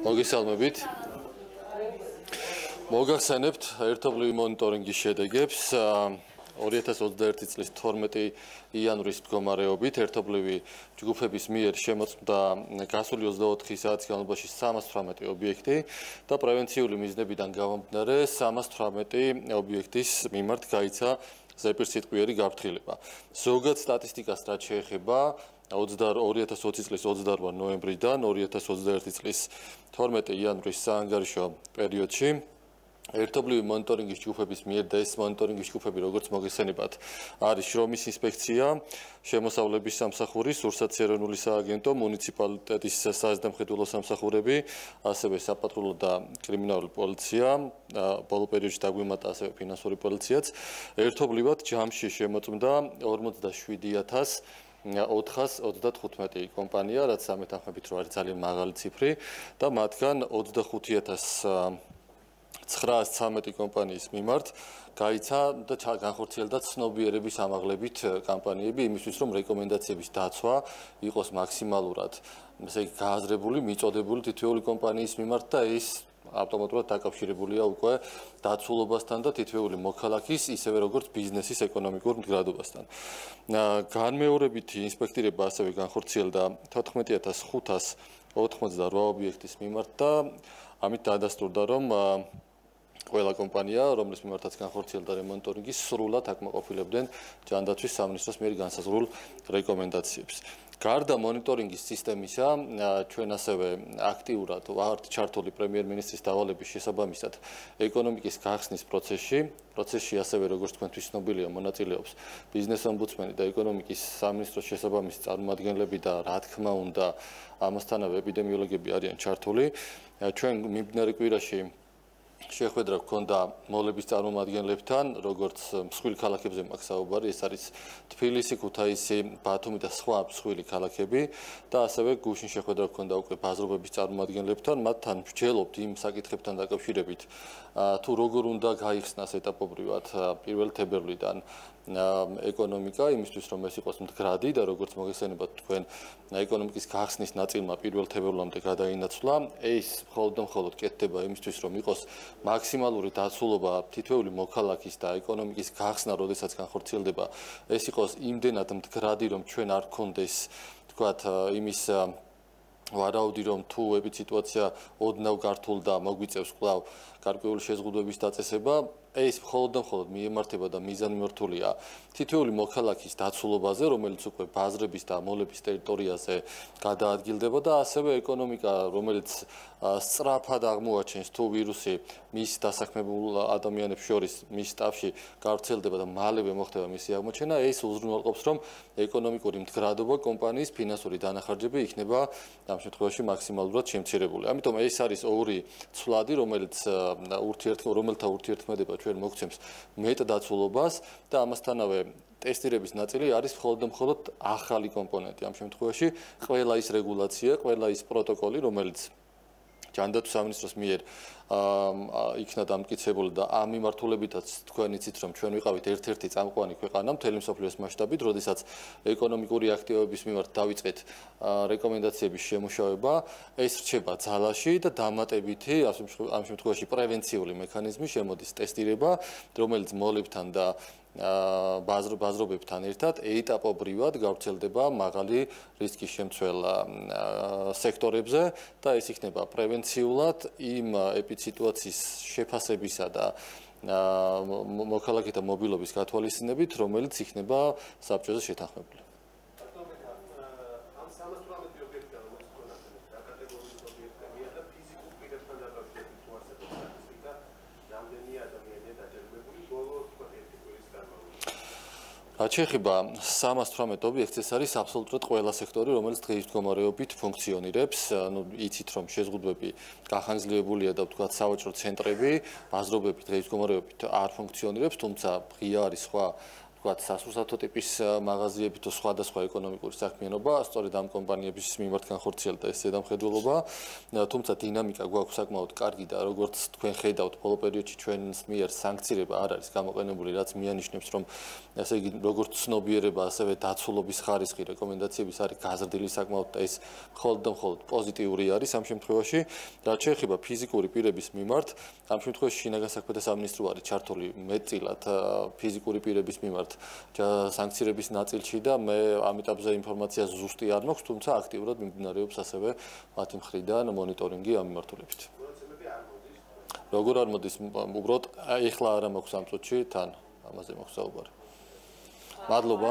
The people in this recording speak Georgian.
მოგესალმებით. მოგახსენებთ ერთობლივი მონიტორინგის შედეგებს 2021 წლის 12 იანვრის მდგომარეობით ერთობლივი ჯგუფების მიერ შემოწმდა გასული 24 საათის განმავლობაში 318 ობიექტი და პრევენციული მიზნებიდან გამომდინარე 318 ობიექტის მიმართ გაიცა ზეპირსიტყვიერი გაფრთხილება. ზოგად სტატისტიკას რაც შეეხება 2020 წლის 28 ნოემბრიდან 2021 წლის 12 იანვრის საანგარიშო პერიოდში ერთობლივი მონიტორინგის ჯგუფების მიერ და ეს მონიტორინგის ჯგუფები როგორც მოგესწრებათ არის შრომის ინსპექცია, შემოსავლების სამსახური, სურსათის ეროვნული სააგენტო, მუნიციპალიტეტის საზედამხედველო სამსახურები, ასევე საპატრულო და კრიმინალური პოლიცია, ბოლო პერიოდში დაგვიმატა ასევე ფინანსური პოლიციაც. ერთობლივად ჯამში შემოწმდა 47435 კომპანია, რაც ამეთანხმებით რომ არის ძალიან მაღალი ციფრი და მათგან 25913 კომპანიის მიმართ გაიცა და განხორციელდა ცნობიერების ამაღლებით კამპანიები იმისთვის რომ რეკომენდაციების დაცვა იყოს მაქსიმალურად ესე იგი გააზრებული, მიწოდებული თითოეული კომპანიის მიმართ და ეს ავტომატურად დაკავშირებულია უკვე დაცულობასთან და თითოეული მოქალაქის ისევე როგორც ბიზნესის ეკონომიკურ მდგრადობასთან. განმეორებითი ინსპექტირება ასევე განხორციელდა 14588 ობიექტის მიმართ და ამით დაადასტურდა რომ ყველა კომპანია, რომლის მიმართაც განხორციელდა რემონტორინგი, სრულად აკმაყოფილებდნენ ჯანდაცვის სამინისტროს მიერ განსაზღვრულ რეკომენდაციებს. გარდა მონიტორინგის სისტემისა, ჩვენ ასევე აქტიურად ვართ ჩართული პრემიერ-მინისტრის დავალების შესაბამისად ეკონომიკის გახსნის პროცესში ასევე როგორც თქვენთვის ცნობილია მონაწილეობს ბიზნეს ომბუდსმენი და ეკონომიკის სამინისტროს შესაბამისი წარმომადგენლები და რა თქმა უნდა ამასთანავე ეპიდემიოლოგები არიან ჩართული. ჩვენ მიმდინარე კვირაში შეხვედრა გქონდა მოლების წარმომადგენლებთან, როგორც მსხვილი ქალაქებზე მაქვს საუბარი, ეს არის თბილისი, ქუთაისი, ბათუმი და სხვა მსხვილი ქალაქები და ასევე გუშინ შეხვედრა გქონდა უკვე ბაზრობების წარმომადგენლებთან, მათთან ვსჯელობთ იმ საკითხებთან დაკავშირებით, თუ როგორ უნდა გაიხსნას ეტაპობრივად 1 თებერვლიდან ეკონომიკა, იმისთვის რომ ეს იყოს მდგრადი და როგორც მოგესწრებათ თქვენ ეკონომიკის გახსნის ნაწილმა 1 თებერვლამდე გადაინაცვლა, ეს მხოლოდ კეთდება იმისთვის რომ იყოს მაქსიმალური დაცულობა თითოეული მოქალაქის და ეკონომიკის გახსნა, როდესაც განხორციელდება, ეს იყოს იმდენად მდგრადი, რომ ჩვენ არ გქონდეს, თქვათ, იმის ვარაუდი, რომ თუ ეპიდემია ოდნავ გართულდა, მოგვიწევს კვლავ გარკვეული შეზღუდვების დაწესება, ეს მხოლოდ მიემართება და მიზანმიმართულია თითოეული მოქალაქის დაცულობაზე, რომელიც უკვე ბაზრების და მოლების ტერიტორიაზე გადაადგილდება და ასევე ეკონომიკა, რომელიც სწრაფად აღმოაჩენს თუ ვირუსი მის დასაქმებულ ადამიანებს შორის მის შტაბში გავრცელდება და მალევე მოხდება მისი აღმოჩენა, ეს უზრუნველყოფს, რომ ეკონომიკური მდგრადობა კომპანიის ფინანსური დანახარჯები იქნება ამ შემთხვევაში მაქსიმალურად შემცირებული. ამიტომ ეს არის ორი ცვლადი, რომელთა ურთიერთქმედება ჩვენ მოგცემს მეტ დაცულობას და ამასთანავე ტესტირების ნაწილი არის მხოლოდ ახალი კომპონენტი. ამ შემთხვევაში ყველა ის რეგულაცია, ყველა ის პროტოკოლი, რომელიც ჯანდაცვის სამინისტროს მიერ იქნა დამტკიცებული და ამ მიმართულებითაც თქვენ იცით რომ ჩვენ ვიყავით ერთ-ერთი წამყვანი ქვეყანა მთელი მსოფლიოს მასშტაბით, როდესაც ეკონომიკური აქტივობების მიმართ დავიწყეთ რეკომენდაციების შემუშავება, ეს რჩება ძალაში და დამატებითი ამ შემთხვევაში პრევენციული მექანიზმი შემოდის ტესტირება, რომელიც მოლებთან და ბაზრობებთან ერთად ეტაპობრივად გავრცელდება მაღალი რისკის შემცველ სექტორებზე და ეს იქნება პრევენციულად იმ ეპიდემიის შეფასებისა და მოქალაქეთა მობილობის გათვალისწინებით, რომელიც იქნება საბჭოზე შეთანხმებული. რაც შეეხება 318 ობიექტს, ეს არის აბსოლუტურად ყველა სექტორი, რომელიც დღის მდგომარეობით ფუნქციონირებს. იცით რომ შეზღუდვები გახანგრძლივებულია და ვთქვათ სავაჭრო ცენტრები, ბაზრობები დღის მდგომარეობით არ ფუნქციონირებს, თუმცა ღია არის სხვა ვთქვათ, სასურსათო ტიპის მაღაზიები თუ სხვადასხვა ეკონომიკური საქმიანობა, სწორედ ამ კომპანიების მიმართ განხორციელდა ეს ზედამხედველობა. თუმცა დინამიკა გვაქვს საკმაოდ კარგი და როგორც თქვენ ხედავთ, ბოლო პერიოდში ჩვენს მიერ სანქციება არ არის გამოყენებული, რაც მიანიშნებს, რომ ასე იგი როგორც ცნობიერება, ასევე დაცულობის ხარისხი რეკომენდაციების არის გაზრდილი საკმაოდ და ეს მხოლოდ და მხოლოდ პოზიტიური არის ამ შემთხვევაში. რაც შეეხება ფიზიკური პირების მიმართ, ამ შემთხვევაში შინაგან საქმეთა სამინისტრო არის ჩართული მეტწილად ფიზიკური პირების მიმართ სანქციების ნაწილში და მე ამ ეტაპზე ინფორმაცია ზუსტი არ მაქვს, თუმცა აქტიურად მიმდინარეობს ასევე მათი მხრიდან მონიტორინგი ამ მიმართულებით. როგორ არ მოდის, უბრალოდ ეხლა არა მაქვს ამ წუთში თან ამაზე მაქვს საუბარი. მადლობა.